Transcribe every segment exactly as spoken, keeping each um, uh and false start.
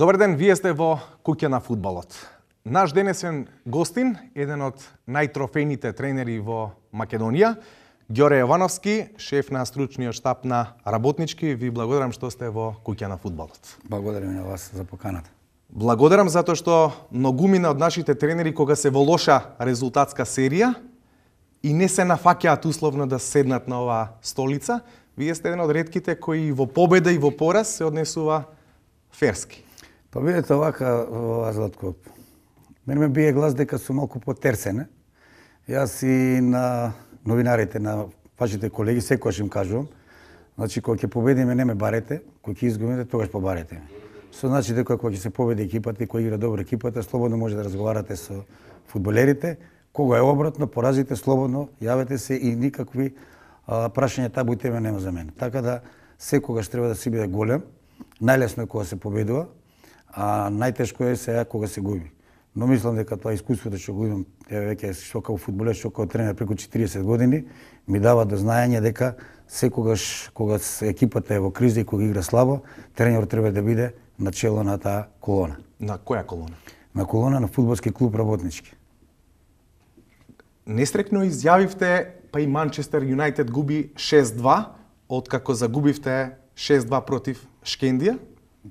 Добар ден, вие сте во Куќа на фудбалот. Наш денесен гостин, еден од најтрофејните тренери во Македонија, Ѓоре Јовановски, шеф на стручниот штаб на Работнички. Ви благодарам што сте во Куќа на фудбалот. Благодарам на вас за поканата. Благодарам затоа што многумина од нашите тренери кога се во лоша резултатска серија и не се нафаќаат условно да седнат на оваа столица, вие сте еден од ретките кои во победа и во пораз се однесува ферски. Па видете овака, Златко, мене ме бие глас дека сум малку потерсен. Јас и на новинарите, на вашите колеги, секојаш им кажувам, значи кога ќе победиме не ме барете, кога ќе изгубиме тогаш побарете ме. Со значи дека кога ќе се победи екипата и кога игра добро екипата, слободно може да разговарате со фудбалерите. Кога е обратно, поразите слободно, јавете се и никакви а, прашања табу тема нема за мене. Така да секогаш треба да си биде голем. Најлесно е кога се победува, а најтешко е сега кога се губи. Но мислам дека тоа искуството што го имам, еве веќе што како фудбалер, што како тренер преку четириесет години, ми дава до знаење дека секогаш кога екипата е во криза и кога игра слабо, тренерот треба да биде начело на таа колона. На која колона? На колона на фудбалски клуб Работнички. Нестрекно изјавивте, па и Манчестер Юнајтед губи шест два, откако загубивте шест два против Шкендија?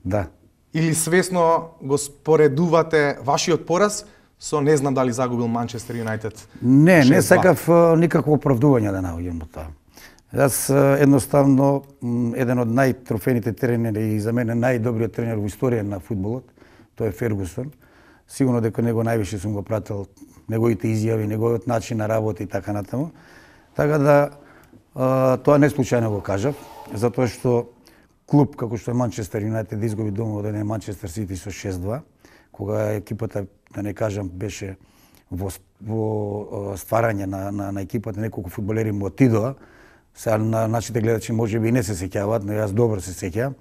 Да. Или свесно го споредувате вашиот пораз со не знам дали загубил Манчестер Юнајтед? Не, не сакав никакво оправдување да наоѓам во тоа. Јас едноставно еден од најтрофените тренери и за мене најдобриот тренер во историја на фудбалот, тој е Фергусон. Сигурно дека него највише сум го пратил, неговите изјави, неговиот начин на работа и така натаму. Така да тоа не случајно го кажав, затоа што клуб како што е Манчестер Юнајтед да изгуби дома од еден Манчестер Сити со шест два, кога екипата, да не кажам, беше во, во стварање на, на, на екипата, неколку фудбалери му отидоа. Сега на нашите гледачи може би не се сеќаваат, но јас добро се сеќавам.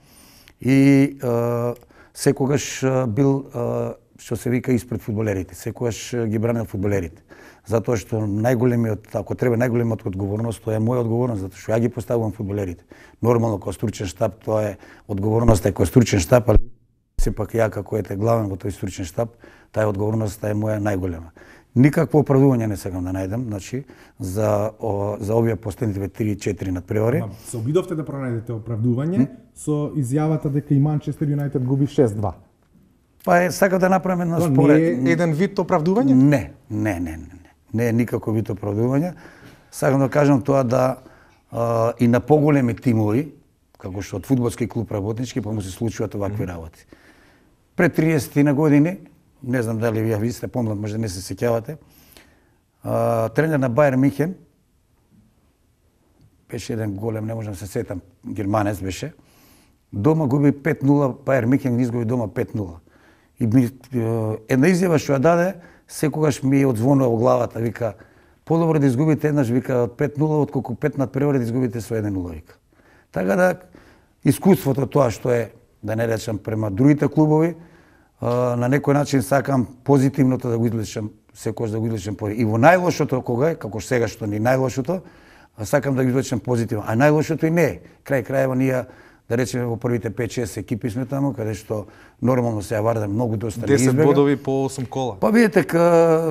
И е, секогаш бил, е, што се вика, испред фудбалерите. Секогаш ги бранел фудбалерите. Затоа што најголемиот, ако треба најголемиот одговорност, тоа е моја одговорност, затоа што ја ги поставувам фудбалерите. Нормално како стручен штаб тоа е одговорноста е како стручен штаб, али сепак ја како ете главен во тој стручен штаб, таа одговорноста е моја најголема. Никакво оправдување не сакам да најдам, значи за о, за овие последните три-четири надпревари. Се обидовте да пронајдете оправдување м? со изјавата дека и Манчестер Юнајтед губи шест два. Па е, сакам да направам една според. според... Не е еден вид оправдување? Не, не, не, не. Не е никако вид оправдување. Сакам да кажам тоа да а, и на поголеми тимови, како што од фудбалски клуб Работнички, па му се случуваат овакви mm-hmm. работи. Пред триесет на години, не знам дали вие ви сте помлад, може да не се сеќавате, а, тренер на Бајер Михен, беше еден голем, не можам да се сетам, германец беше, дома губи пет нула, Бајер Михен изгуби дома пет нула. И ми, една изјава што ја даде, секогаш ми одзвонува во главата, вика, подобро да изгубите еднаш, вика, од пет нула, отколку пет надпревари да изгубите со еден нула, вика. Така да, искуството тоа што е, да не речам, према другите клубови, на некој начин сакам позитивното да го излечам, секогаш да го излечам и во најлошото кога е, како сега што ни најлошото, сакам да го излечам позитивно. А најлошото и не е. Крај крајева ние да речеме во првите пет-шест екипи сме таму, каде што нормално се ја Вардар многу доста не избега. десет бодови по осум кола. Па видите,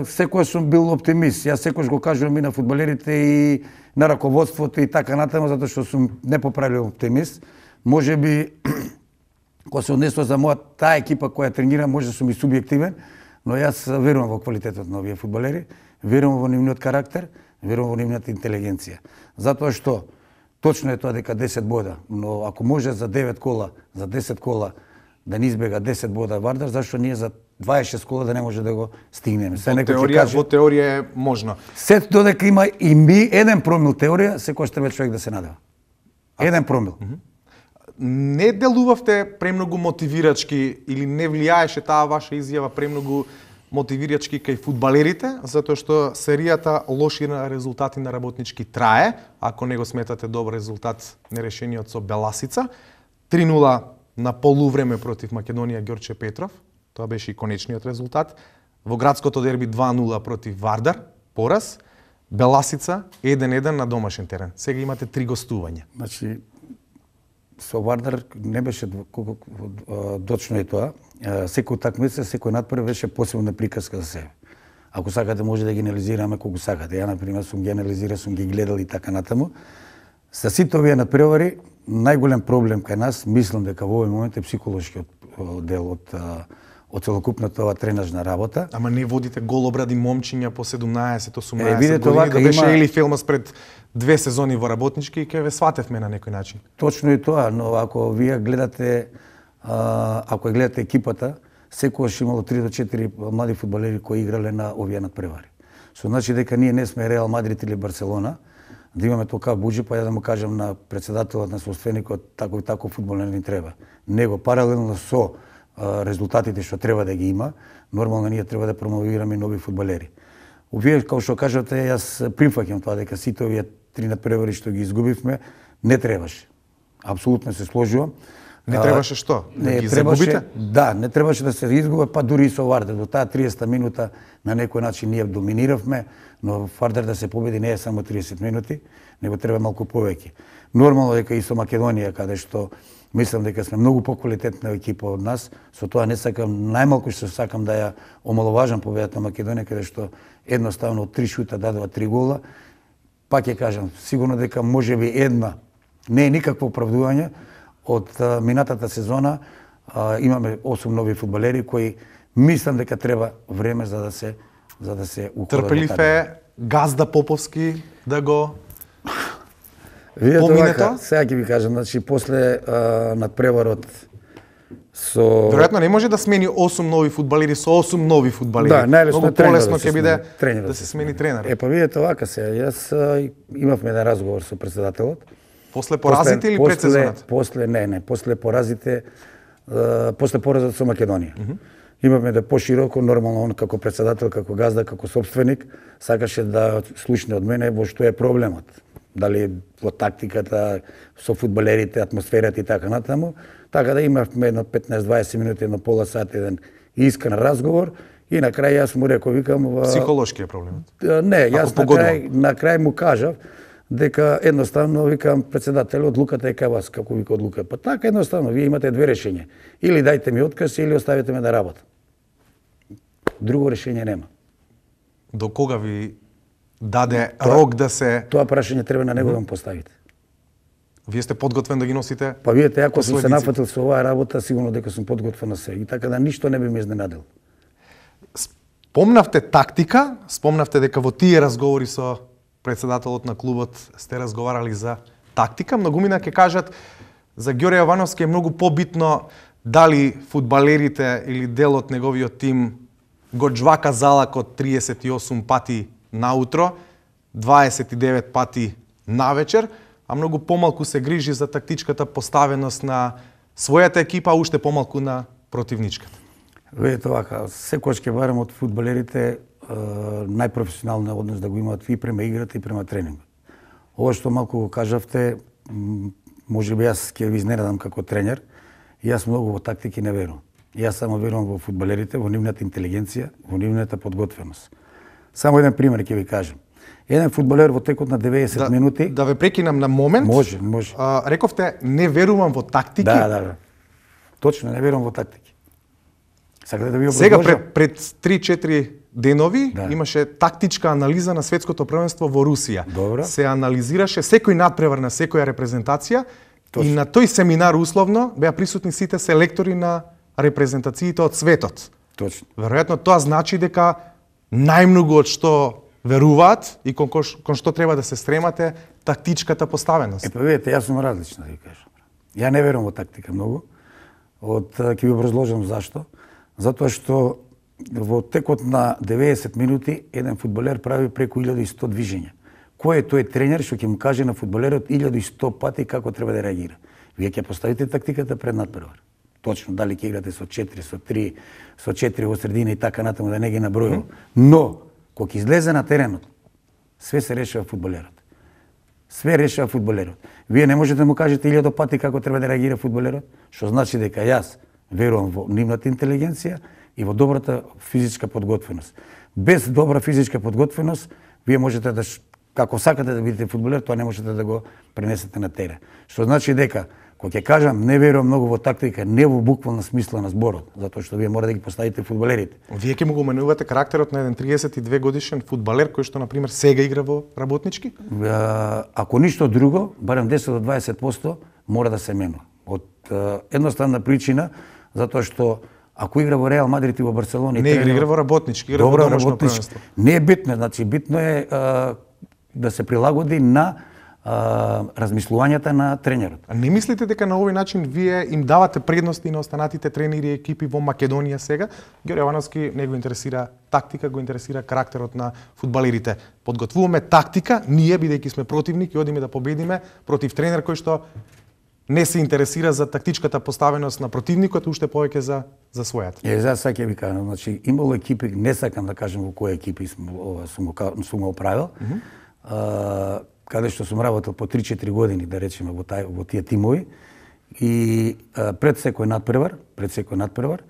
секогаш сум бил оптимист. Јас секогаш го кажувам и на фудбалерите и на раководството и така натаму, затоа што сум непоправлив оптимист. Може би кога се однесува за моја таа екипа која тренира, може да сум и субјективен, но јас верувам во квалитетот на овие фудбалери, верувам во нивниот карактер, верувам во нивната интелигенција. Затоа што точно е тоа дека десет бода, но ако може за девет кола, за десет кола да не избега десет бода Вардар, зашто ние за дваесет и шест кола да не може да го стигнеме? Во теорија, каже, во теорија е можно. Сето додека има и ми еден промил теорија, секојаш треба човек да се надева. Еден промил. Mm -hmm. Не делувавте премногу мотивирачки или не влијаеше таа ваша изјава премногу мотивирачки кај фудбалерите, затоа што серијата лоши резултати на Работнички трае, ако не го сметате добар резултат нерешениот со Беласица. три нула на полувреме против Македонија Ѓорче Петров, тоа беше и конечниот резултат. Во градското дерби два нула против Вардар, пораз. Беласица еден еден на домашен терен. Сега имате три гостувања. Значи, со Вардар не беше колку точно е тоа. Секој такмица, секој надпрев беше посебна приказка за себе. Ако сакате може да ги анализираме колку сакате. Ја на пример сум ги анализирал, сум ги гледал и така натаму. Со сите овие надпревари најголем проблем кај нас, мислам дека во овој момент е психолошкиот дел од од целокупната ова тренажна работа. Ама не водите голобради момчиња по седумнаесет осумнаесет е, видите, години, да беше има... или филмас пред две сезони во работнички и ке ве сватевме на некој начин. Точно и тоа, но ако вие гледате, а, ако гледате екипата, секогаш имало три до четири млади фудбалери кои играле на овие надпревари. Со значи дека ние не сме Реал Мадрид или Барселона, да имаме толкав буџи, па ја да му кажам на председателот на собственикот, тако и тако фудбал не ни треба. Него паралелно со а, резултатите што треба да ги има, нормално ние треба да промовираме нови фудбалери. Овие, како што кажате, јас прифаќам тоа дека сите овие три надпревари што ги изгубивме, не требаше. Апсолутно се сложувам. Не требаше што? Да не ги требаше, загубите? Да, не требаше да се изгубат, па дури и со Вардар. До таа триесетта минута на некој начин ние доминиравме, но Вардар да се победи не е само триесет минути, него треба малку повеќе. Нормално дека и со Македонија, каде што мислам дека сме многу поквалитетна екипа од нас, со тоа не сакам, најмалку што сакам да ја омаловажам победата на Македонија, каде што едноставно од три шута дадува три гола. Пак ќе кажам, сигурно дека можеби една, не е никакво оправдување, од а, минатата сезона а, имаме осум нови фудбалери кои мислам дека треба време за да се за да се уходат. Трпелив е Газда Поповски да го Видете помине вака, тоа? сега ќе ви кажам, значи после а, надпреварот со Веројатно не може да смени осум нови фудбалери со осум нови фудбалери. Да, најлесно Многу е тренерот полесно да се ќе биде смени, тренерот да се се смени тренер. Е, па видете вака се, јас а, имавме еден разговор со председателот. После поразите или пред сезоната? После, не, не, после поразите, uh, после поразот со Македонија. Mm -hmm. Имавме да пошироко, нормално он како председател, како газда, како собственик, сакаше да слушне од мене во што е проблемот. Дали во тактиката, со фудбалерите, атмосферата и така натаму. Така да имавме едно петнаесет-дваесет минути, едно пола сат, еден искрен разговор и на крај јас му реков, викам... Психолошки е проблемот? Не, јас на крај, на крај му кажав дека едноставно, викам, председател, одлуката е кај вас, како вика одлука. Па така едноставно, вие имате две решења. Или дајте ми отказ, или оставите ме да работам. Друго решење нема. До кога ви даде тоа, рок да се... Тоа прашање треба на него да му поставите. Вие сте подготвен да ги носите? Па видите, ако сум се нафатил со оваа работа, сигурно дека сум подготвен на се. И така да ништо не би ме изненадил. Спомнавте тактика, спомнавте дека во тие разговори со председателот на клубот сте разговарали за тактика. Многумина ќе кажат за Ѓорѓе Јовановски е многу побитно дали фудбалерите или дел од неговиот тим го джвака залакот триесет и осум пати наутро, дваесет и девет пати навечер, а многу помалку се грижи за тактичката поставеност на својата екипа, а уште помалку на противничката. Видите вака, секојаш ќе барам од фудбалерите најпрофесионален однос да го имаат и према играта и према тренингот. Ова што малку го кажавте, можеби јас ќе ви изненадам како тренер, јас многу во тактики не верувам. Јас само верувам во фудбалерите, во нивната интелигенција, во нивната подготвеност. Само еден пример ќе ви кажам. Еден фудбалер во текот на деветдесет да, минути... Да ве прекинам на момент. Може, може. А, рековте, не верувам во тактики. Да, да, да. Точно, не верувам во тактики. Сакате да ви образложам? Сега пред, пред три-четири денови да. имаше тактичка анализа на светското првенство во Русија. Добро. Се анализираше секој надпревар на секоја репрезентација. Точно. И на тој семинар условно беа присутни сите селектори на репрезентациите од светот. Точно. Веројатно тоа значи дека најмногу од што веруваат и кон, кон што треба да се стремате тактичката поставеност. Е, па видите, јас сум различна, да ви кажам. Ја не верувам во тактика многу. Од ќе ви образложам зашто. Затоа што во текот на деветдесет минути еден фудбалер прави преку илјада и сто движења. Кој е тој тренер што ќе му каже на фудбалерот илјада и сто пати како треба да реагира? Вие ќе поставите тактиката пред надпревар. Точно дали ќе играте со четири, со три, со четири во средина и така натаму да не ги набројувам. Но кога ќе излезе на теренот, све се решава фудбалерот. Све решава фудбалерот. Вие не можете да му кажете илјада пати како треба да реагира фудбалерот, што значи дека јас верувам во нивната интелигенција и во добрата физичка подготвеност. Без добра физичка подготвеност, вие можете да, како сакате да бидете фудбалер, тоа не можете да го пренесете на терен. Што значи дека Кога ќе кажам не верувам многу во тактика, не во буквална смисла на зборот, затоа што вие мора да ги поставите фудбалерите. Вие ќе му го менувате карактерот на еден триесет и две годишен фудбалер кој што на пример сега игра во Работнички? Ако ништо друго, барем десет до дваесет проценти мора да се менува. Од едноставна причина затоа што ако игра во Реал Мадрид и во Барселона, не игра, игра во Работнички, игра во домашно првенство. Не е битно, значи битно е а, да се прилагоди на а, размислувањата на тренерот. А не мислите дека на овој начин вие им давате предности на останатите тренери и екипи во Македонија сега? Ѓорѓе Јовановски не го интересира тактика, го интересира карактерот на фудбалерите. Подготвуваме тактика, ние бидејќи сме противник и одиме да победиме против тренер кој што не се интересира за тактичката поставеност на противникот, уште повеќе за за својата. Е, за сега ќе ви кажам, значи имало екипи, не сакам да кажам во кои екипи сум ова сум го сум го правил. Mm -hmm. а, каде што сум работел по три-четири години, да речеме, во тај во тие тимови и а, пред секој надпревар, пред секој надпревар,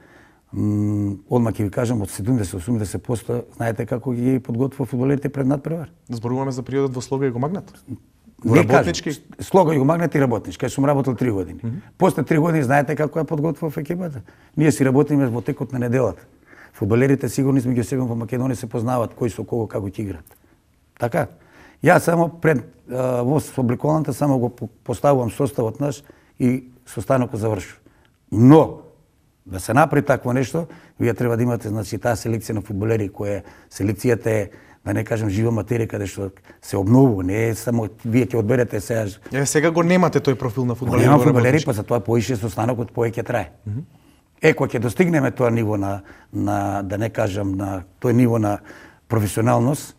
одма ќе ви кажам од седумдесет до осумдесет проценти знаете како ги подготвува фудбалерите пред надпревар? Зборуваме за периодот во Слога и го Магнат. Не Работнички? Слога и го Магнат и Работнички, кај сум работел три години. Mm -hmm. После три години знаете како ја подготвува екипата? Ние си работиме во текот на неделата. Фудбалерите сигурно меѓу себе во Македонија се познаваат кој со кого како ќе играат. Така? Јас само пред а, во обликуваната само го поставувам составот наш и состанокот завршува. Но да се направи такво нешто, вие треба да имате значи таа селекција на фудбалери која селекцијата е, да не кажам, жива материја каде што се обновува, не е само вие ќе одберете сега. Е, сега го немате тој профил на фудбалери. Нема фудбалери, па затоа поише состанокот повеќе трае. Mm -hmm. Е, кога ќе достигнеме тоа ниво на, на да не кажам на тој ниво на професионалност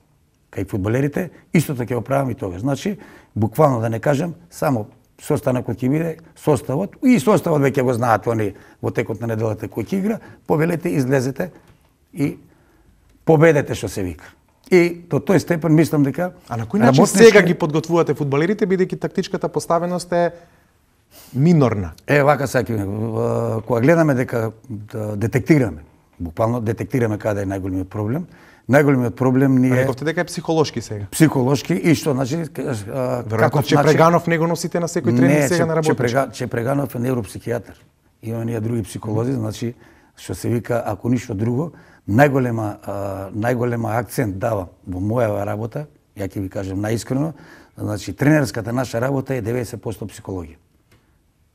кај фудбалерите, истото ќе го правам и тогаш. Значи, буквално да не кажам, само состанокот ќе биде составот и составот веќе го знаат они во текот на неделата кој ќе игра, повелете, излезете и победете што се вика. И до тој степен мислам дека А на кој начин сега ги подготвувате фудбалерите бидејќи тактичката поставеност е минорна? Е, вака саки, кога гледаме дека да детектираме, буквално детектираме каде е најголемиот проблем. Најголемиот проблем ни е... Рековте дека е психолошки сега. Психолошки и што, значи... Веројатно Чепреганов не го носите на секој тренинг сега на Работнички. Не, Чепреганов е невропсихијатар. Има ние други психолози, значи, што се вика, ако ништо друго, најголема, најголема акцент дава во моја работа, ја ќе ви кажам наискрено, значи, тренерската наша работа е деветдесет проценти психологија.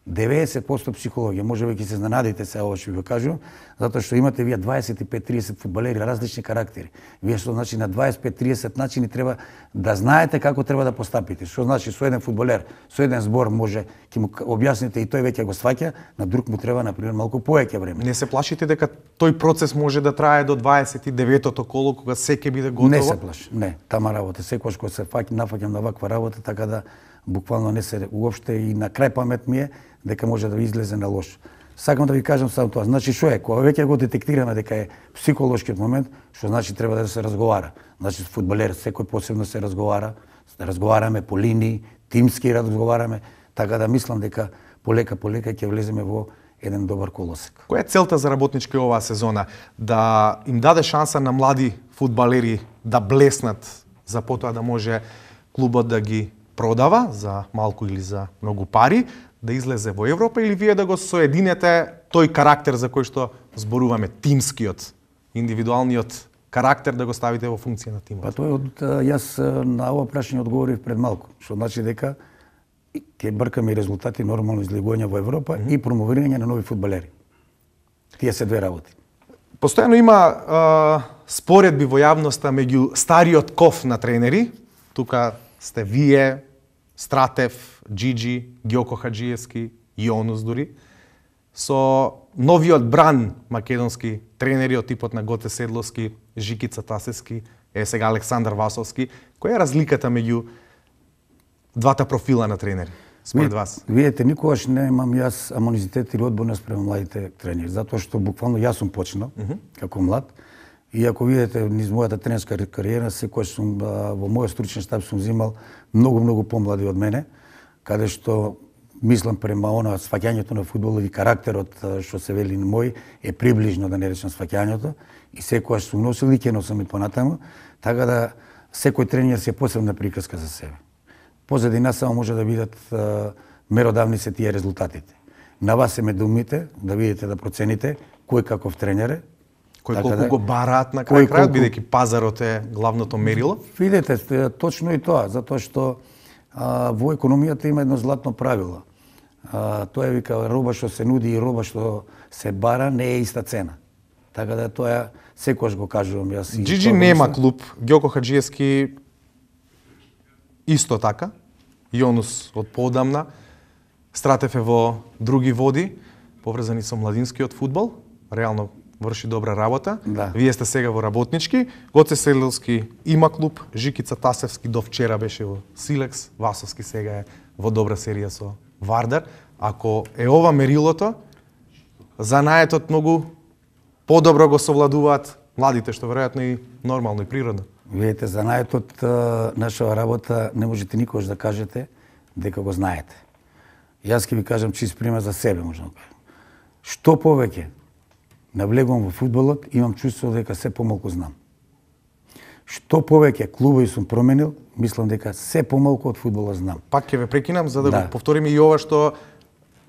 деветдесет проценти психологија, може би ќе се изненадите сега ова што ви го кажувам, затоа што имате вие дваесет и пет триесет фудбалери, различни карактери. Вие што значи на дваесет и пет триесет начини треба да знаете како треба да постапите. Што значи со еден фудбалер, со еден збор може ќе му објасните и тој веќе го сваќа, на друг му треба на пример малку повеќе време. Не се плашите дека тој процес може да трае до дваесет и деветото коло кога се ќе биде готово? Не се плаши. Не, тама работа, секогаш кога се фаќам, нафаќам на ваква работа, така да буквално не се уопште и на крај памет ми е дека може да ви излезе на лошо. Сакам да ви кажам само тоа. Значи што е? Кога веќе го детектираме дека е психолошкиот момент, што значи треба да се разговара. Значи фудбалер секој посебно се разговара, да разговараме по линии, тимски разговараме, така да мислам дека полека полека ќе влеземе во еден добар колосек. Која е целта за Работнички оваа сезона? Да им даде шанса на млади фудбалери да блеснат, за потоа да може клубот да ги продава за малку или за многу пари, да излезе во Европа, или вие да го соединете тој карактер за кој што зборуваме, тимскиот, индивидуалниот карактер, да го ставите во функција на тимот? Па тој од јас на ова прашање одговорив пред малку, што значи дека ќе бркаме и резултати нормално излегување во Европа mm -hmm. и промовирање на нови фудбалери. Тие се две работи. Постојано има а, споредби во јавноста меѓу стариот ков на тренери, тука сте вие, Стратев, Джиджи, Ѓоко Хаджиевски, Јонус дури, со новиот бран македонски тренери од типот на Готе Седловски, Жикица Тасевски, е сега Александар Васовски. Која е разликата меѓу двата профила на тренери, според вас? Видете, никогаш немам јас амонизитет или одборност спрема младите тренери, затоа што буквално јас сум почнал uh -huh. како млад. И ако видите низ мојата тренерска кариера, секој сум во мојот стручен штаб сум взимал многу многу помлади од мене, каде што мислам према она сваќањето на фудбалот и карактерот што се вели на мој е приближно, да не речам, сваќањето, и секогаш сум носил и ќе носам и понатаму, така да секој тренер се посебна приказка за себе. Позади нас само може да бидат меродавни се тие резултатите. На вас се ме думите, да видите, да процените кој каков тренер е. Кој така колку да, го бараат на крај крајот, колку... бидејќи пазарот е главното мерило? Видете, точно и тоа, затоа што а, во економијата има едно златно правило. А, тоа е вика, роба што се нуди и роба што се бара не е иста цена. Така да тоа секогаш го кажувам јас. Джиджи нема клуб, Ѓоко Хаџиевски исто така, Јонус од поодамна, Стратев е во други води, поврзани со младинскиот фудбал, реално врши добра работа. Да. Вие сте сега во работнички, Гоце Селилски има клуб, Жикица Тасевски до вчера беше во Силекс, Васовски сега е во добра серија со Вардар. Ако е ова мерилото, занаетот многу подобро го совладуваат младите, што веројатно и нормално и природно. Видите, занаетот нашава работа не можете никогаш да кажете дека го знаете. Јас ќе ви кажам чист пример за себе, можам да кажам. Што повеќе навлегувам во фудбалот, имам чувство дека се помалку знам. Што повеќе клубови сум променил, мислам дека се помалку од фудбалот знам. Пак ќе ве прекинам за да, Да. го повториме и ова што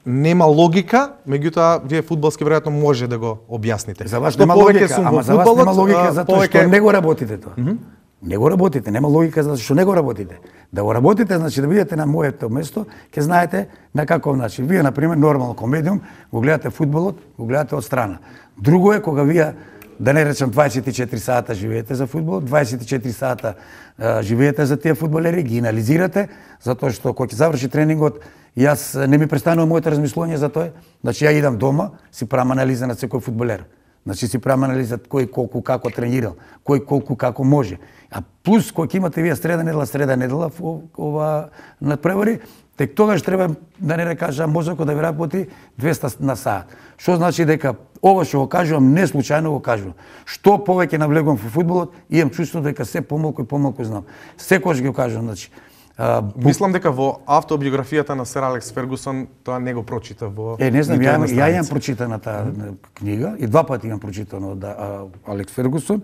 нема логика, меѓутоа вие фудбалски веројатно може да го објасните. За вас Што нема повеќе логика, сум ама во за вас нема фудбалот, логика а, затоа повеќе... што не го работите тоа. Mm -hmm. Не го работите, нема логика затоа што не го работите. Да го работите, значи да бидете на моето место, ќе знаете на каков начин. Вие, например, нормално комедиум, го гледате фудбалот, го гледате од страна. Друго е кога вие, да не речам дваесет и четири сата живеете за фудбал, дваесет и четири сата а, живеете за тие фудбалери, ги анализирате, затоа што кога ќе заврши тренингот, јас не ми престанува моето размислување за тоа. Значи ја идам дома, си правам анализа на секој фудбалер. Значи си правам анализа кој колку како тренирал, кој колку како може. А плюс кој ќе имате вие среда недела, среда недела ова надпревари, тек тогаш треба да не кажам мозокот да ви работи двеста на саат. Што значи дека ова што го кажувам не случајно го кажувам. Што повеќе навлегувам во фудбалот, имам чувство дека се помалку и помалку знам. Секогаш ги кажувам, значи А, Мислам дека во автобиографијата на Сер Алекс Фергусон тоа не го прочита во... Е, не знам, ниту ја, една ја имам страница. прочитана таа книга и два пати имам прочитано од а, Алекс Фергусон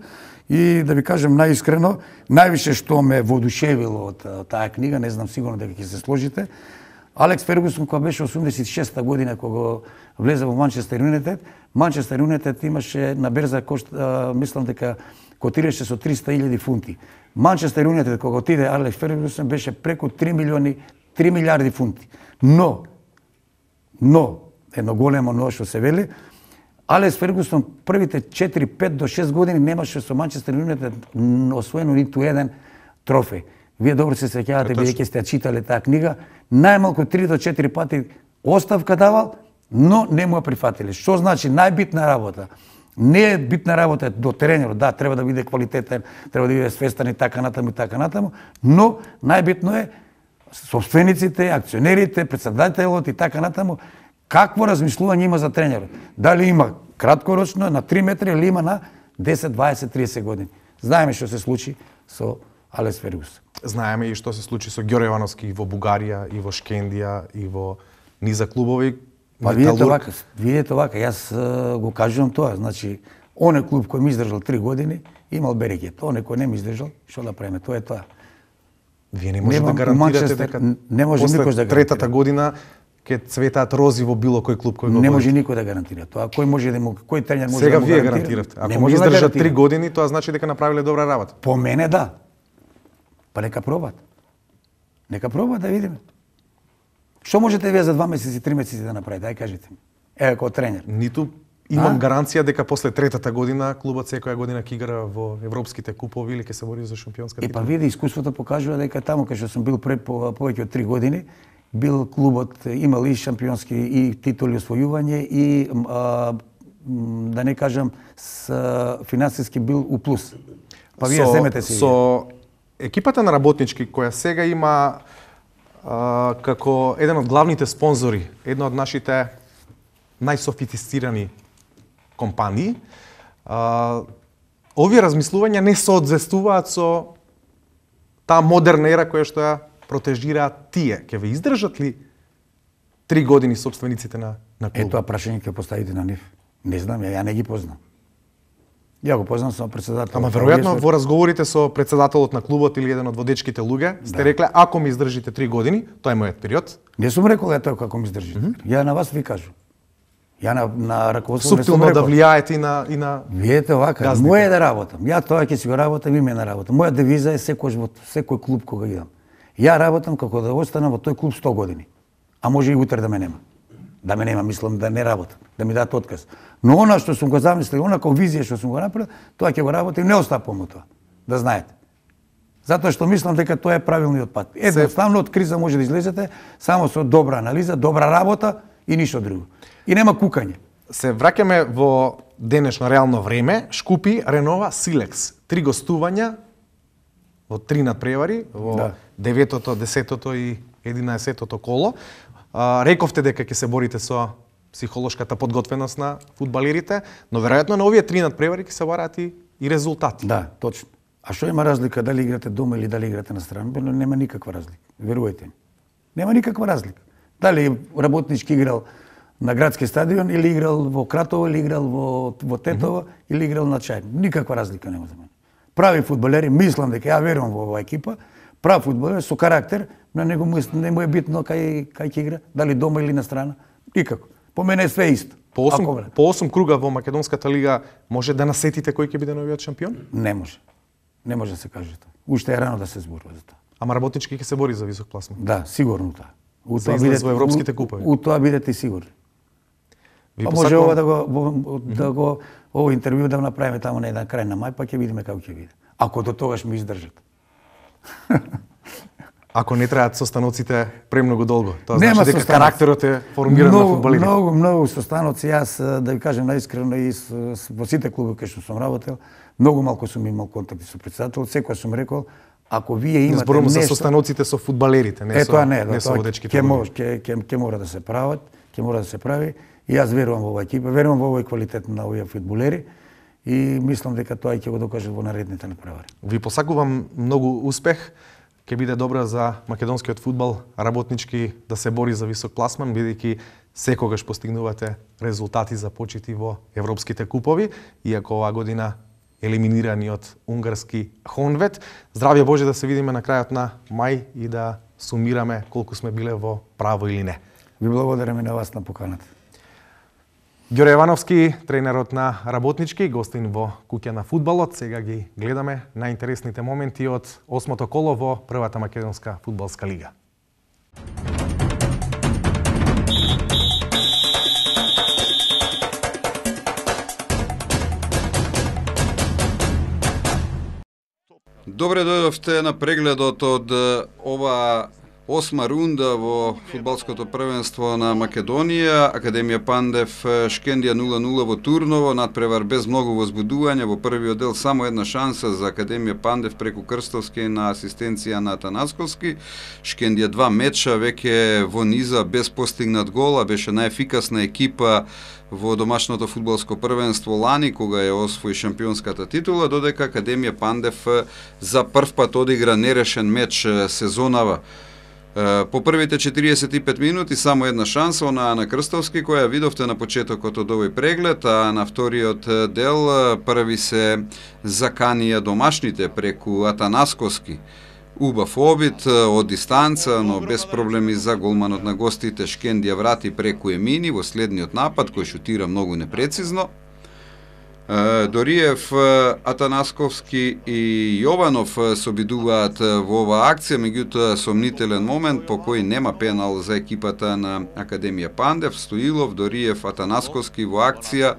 и да ви кажем најискрено, највише што ме воодушевило од а, таа книга, не знам сигурно дека ќе се сложите, Алекс Фергусон кога беше осумдесет и шеста година кога влезе во Манчестер Юнайтед, Манчестер Юнайтед имаше на берза кошт, а, мислам дека котираше со триста илјади фунти. Манчестер Юнайтед кога отиде Алекс Фергусон беше преку три милиони, три милиарди фунти. Но, но, едно големо но што се вели, Алекс Фергусон првите четири, пет до шест години немаше со Манчестер Юнайтед освоено ниту еден трофеј. Вие добро се сеќавате, бидејќи сте читале таа книга, најмалку три до четири пати оставка давал, но не му ја прифатиле. Што значи најбитна работа? Не е битна работа до тренерот, да, треба да биде квалитетен, треба да биде свестен и така натаму и така натаму, но најбитно е собствениците, акционерите, председателот и така натаму, какво размислување има за тренерот. Дали има краткорочно на три метри или има на десет, дваесет, триесет години. Знаеме што се случи со Алекс Фергусон. Знаеме и што се случи со Ѓоре Ивановски и во Бугарија, и во Шкендија, и во низа клубови. Па видете вака, видете вака, јас uh, го кажувам тоа, значи, оне клуб кој ми издржал три години, имал берекет, оне кој не ми издржал, што да правиме, тоа е тоа. Вие не можете Нема, да гарантирате Манчестер, дека не може после никош да третата гарантира. година ќе цветаат рози во било кој клуб кој го Не води. може никој да гарантира тоа. Кој може да му, кој тренер може Сега да му вие гарантира? гарантиравте. Не Ако може ми да издржат гарантира. три години, тоа значи дека направиле добра работа. По мене да. Па нека пробат. Нека пробат да видиме. Што можете вие за два месеци, три месеци да направите? Ај кажете ми. Еве како тренер. Ниту имам А? гаранција дека после третата година клубот секоја година ќе игра во европските купови или ќе се бори за шампионска Е па титла. види, искуството покажува дека таму кај што сум бил пред по, повеќе од три години, бил клубот имал и шампионски и титули освојување и а, м, да не кажам с а, финансиски бил у плюс. Па вие Со- земете си. Со екипата на работнички која сега има а, како еден од главните спонзори, една од нашите најсофистицирани компании, а, овие размислувања не соодветствуваат со таа модерна ера која што ја протежираат тие. Ќе ве издржат ли три години собствениците на, на Е, клубот? тоа прашање ќе поставите на нив. Не знам, ја, ја не ги познам. Ја го познам само председател. Ама веројатно во разговорите со председателот на клубот или еден од водечките луѓе сте да. рекле ако ми издржите три години, тоа е мојот период. Не сум рекол ето како ми издржите. Mm -hmm. Ја на вас ви кажу. Ја на, на раководството не сум рекол. Суптилно да влијаете и на и на Видете овака, моје е да работам. Ја тоа ќе си го работам, име на работа. Моја девиза е секој во секој клуб кога идам. Ја работам како да останам во тој клуб сто години. А може и утре да ме нема. Да ме нема, мислам да не работам, да ми дадат отказ. Но она што сум го замислил, она како визија што сум го направил, тоа ќе го работам и не остапувам тоа. Да знаете. Затоа што мислам дека тоа е правилниот пат. Едноставно од криза може да излезете само со добра анализа, добра работа и ништо друго. И нема кукање. Се враќаме во денешно реално време. Шкупи ренова Силекс. Три гостувања во три надпревари, во да. деветото, десетото и единаесеттото коло. А, рековте дека ќе се борите со психолошката подготвеност на фудбалерите, но веројатно на овие три надпревари ќе се бараат и, и резултати. Да, точно. А што има разлика дали играте дома или дали играте на страна? Нема никаква разлика. Верувајте ми. Нема никаква разлика. Дали работнички играл на градски стадион или играл во Кратово или играл во во Тетово mm -hmm. или играл на Чај. Никаква разлика нема за мене. Прави фудбалери, мислам дека ја верувам во оваа екипа, прав фудбалер со карактер, на него му не му е битно кај кај ќе игра, дали дома или на страна. Никако. По мене е све исто. По осум, по осум круга во Македонската лига може да насетите кој ќе биде новиот шампион? Не може. Не може да се каже тоа. Уште е рано да се зборува за тоа. Ама работнички ќе се бори за висок пласман. Да, сигурно тоа. У тоа бидете во европските купови. У, у тоа бидете сигурни. Ви па може ова да го во, да го ово интервју да направиме таму на еден крај на мај, па ќе видиме како ќе биде. Ако до тогаш ми издржат. Ако не траат состаноците премногу долго, тоа значи дека карактерот е формиран на фудбалерите. Многу, многу состаноци, јас да ви кажем наискрено и во сите клубови кај што сум работел, многу малку сум имал контакти со председателот, секој сум рекол, ако вие имате зборувам нешто... за состаноците со фудбалерите, не е, со тоа не, не со водечките. Ќе може, ќе ќе ќе мора да се прават, ќе мора да се прави и јас верувам во оваа екипа, верувам во овој квалитет на овие фудбалери и мислам дека тоа ќе го докажат во наредните надпревари. Ви посакувам многу успех. Ќе биде добра за македонскиот фудбал, работнички да се бори за висок пласман, бидејќи секогаш постигнувате резултати за почити во европските купови, иако оваа година елиминирани од унгарски Хонвет. Здравје Боже да се видиме на крајот на мај и да сумираме колку сме биле во право или не. Ви благодарам и на вас на поканата. Ѓоре Јовановски, тренерот на работнички, гостин во куќа на фудбалот. Сега ги гледаме најинтересните моменти од осмото коло во првата македонска фудбалска лига. Добре дојдовте на прегледот од ова осма рунда во фудбалското првенство на Македонија. Академија Пандев Шкендија нула нула во Турново, надпревар без многу возбудување. Во првиот дел само една шанса за Академија Пандев преку Крстовски на асистенција на Атанасковски. Шкендија два меча веќе во низа без постигнат гол, а беше најефикасна екипа во домашното фудбалско првенство лани, кога ја освои шампионската титула, додека Академија Пандев за прв пат одигра нерешен меч сезонава. По првите четириесет и пет минути само една шанса, онаа на Крстовски, која видовте на почетокот од овој преглед, а на вториот дел први се заканија домашните преку Атанасковски. Убав обид од дистанца, но без проблеми за голманот на гостите. Шкендија врати преку Емини во следниот напад, кој шутира многу непрецизно. Дориев, Атанасковски и Јованов се обидуваат во оваа акција, меѓутоа сомнителен момент по кој нема пенал за екипата на Академија Пандев. Стоилов, Дориев, Атанасковски во акција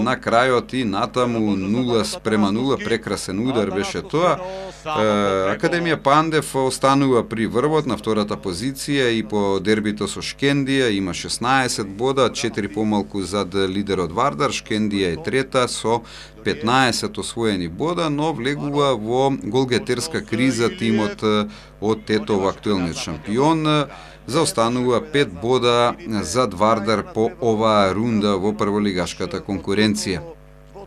на крајот и натаму нула спрема нула, прекрасен удар беше тоа. Академија Пандев останува при врвот на втората позиција и по дербито со Шкендија има шеснаесет бода, четири помалку зад лидерот Вардар. Шкендија е трета со петнаесет освоени бода, но влегува во голгетерска криза тимот од Тетово, актуелниот шампион. Заостанува пет бода зад Вардар по оваа рунда во прволигашката конкуренција.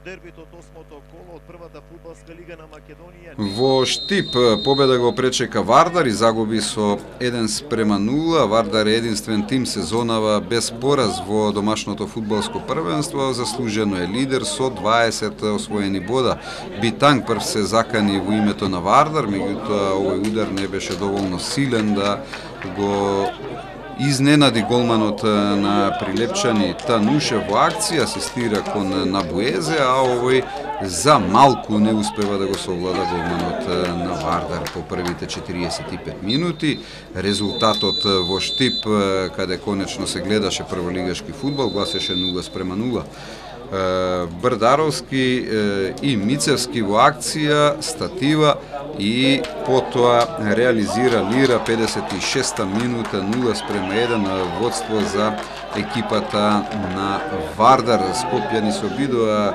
дербито од осмото коло од првата фудбалска лига на Македонија. Во Штип победа го пречека Вардар и загуби со еден спрема нула. Вардар е единствен тим сезонава без пораз во домашното фудбалско првенство. Заслужено е лидер со дваесет освоени бода. Битанг прв се закани во името на Вардар, меѓутоа овој удар не беше доволно силен да го изненади голманот на Прилепчани Тануше во акција, асистира кон Набуезе, а овој за малку не успева да го совлада голманот на Вардар по првите четириесет и пет минути. Резултатот во Штип, каде конечно се гледаше прволигашки фудбал, гласеше нула спрема нула. Брдаровски и Мицевски во акција, статива и потоа реализира Лира педесет и шеста минута, нула спрема еден водство за екипата на Вардар. Скопјани се обидоа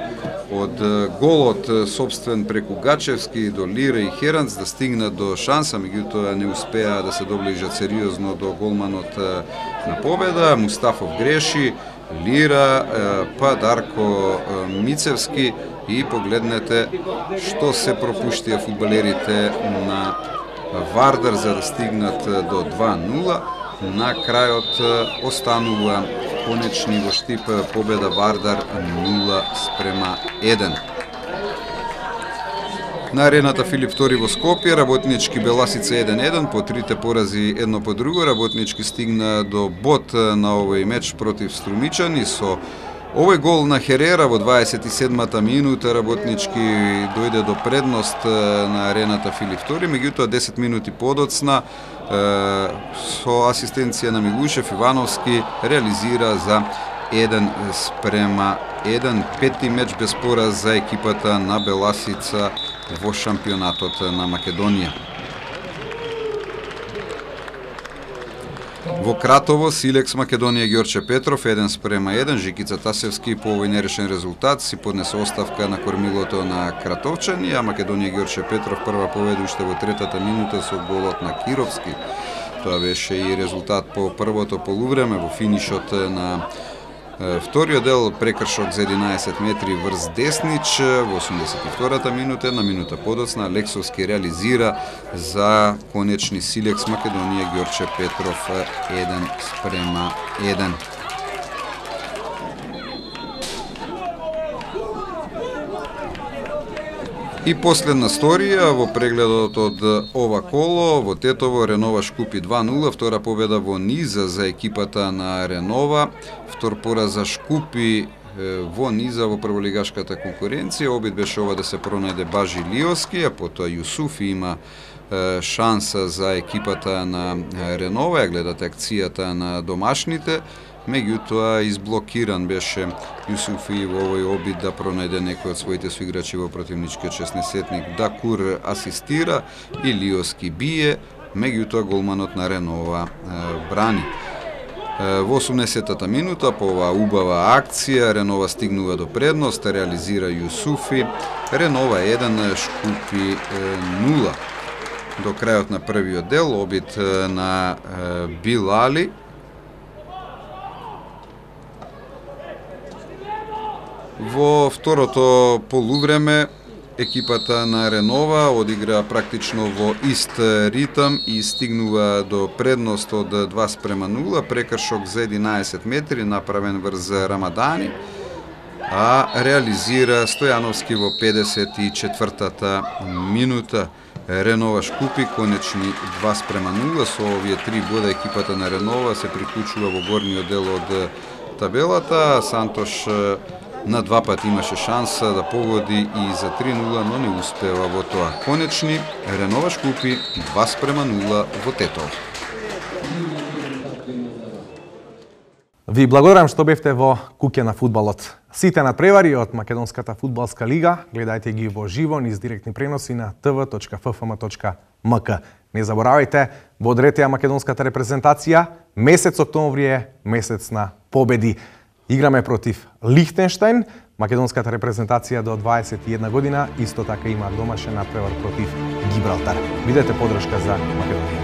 од голот собствен преку Гачевски до Лира и Херанц да стигнат до шанса, меѓутоа не успеа да се доближат сериозно до голманот на победа. Мустафов греши, Лира, па Дарко Мицевски и погледнете што се пропуштија фудбалерите на Вардар за да стигнат до два нула. На крајот останува конечни во Штип победа Вардар нула спрема еден. На арената Филип втори во Скопје, Работнички Беласица еден еден, по трите порази едно по друго. Работнички стигна до бод на овој меч против Струмичани со овој гол на Херера во дваесет и седмата минута. Работнички дојде до предност на арената Филип втори, меѓутоа десет минути подоцна со асистенција на Милушев, Ивановски реализира за еден спрема еден, пети меч без пораз за екипата на Беласица во шампионатот на Македонија. Во Кратово, Силекс Македонија Ѓорче Петров еден спрема еден, Жикица Тасевски по овој нерешен резултат си поднесе оставка на кормилото на кратовчани, а Македонија Ѓорче Петров прва победа уште во третата минута со голот на Кировски. Тоа беше и резултат по првото полувреме во финишот на вториот дел, прекршок за единаесет метри врз Деснич во осумдесет и втората минута, една минута подоцна Лексовски реализира за конечни Силекс Македонија Ѓорче Петров еден спрема еден. И последна сторија во прегледот од ова коло, во Тетово Ренова Шкупи два нула, втора победа во низа за екипата на Ренова, втор пораз за Шкупи во низа во прволигашката конкуренција. Обид беше ова да се пронајде Бажи Лиоски, а потоа Јусуфи има шанса за екипата на Ренова. Ја гледате акцијата на домашните, меѓутоа изблокиран беше Јусуфи во овој обид да пронајде некој од своите соиграчи во противничкиот шеснаесетник. Дакур асистира и Лиоски бие, меѓутоа голманот на Ренова брани. Во осумдесетата минута по оваа убава акција Ренова стигнува до предност, реализира Јусуфи, Ренова еден, Шкупи нула. До крајот на првиот дел обид на Билали. Во второто полувреме екипата на Ренова одигра практично во ист ритам и стигнува до предност од два спрема нула, прекршок за единаесет метри направен врз Рамадани, а реализира Стојановски во педесет и четвртата минута. Ренова Шкупи конечни два спрема нула, со овие три бода екипата на Ренова се приклучува во горниот дел од табелата. Сантош на два пати имаше шанса да погоди и за три нула, но не успева во тоа. Конечни Ренова Шкупи два спрема нула во Тетово. Ви благодарам што бевте во Куќе на фудбалот. Сите надпревари од Македонската фудбалска лига гледајте ги во живо низ директни преноси на ти ви точка еф еф ем точка ем ка. Не заборавајте, бодрете ја македонската репрезентација. Месец октомври е месец на победи. Играме против Лихтенштајн, македонската репрезентација до дваесет и една година, исто така има домашен надпревар против Гибралтар. Бидете подршка за Македонија.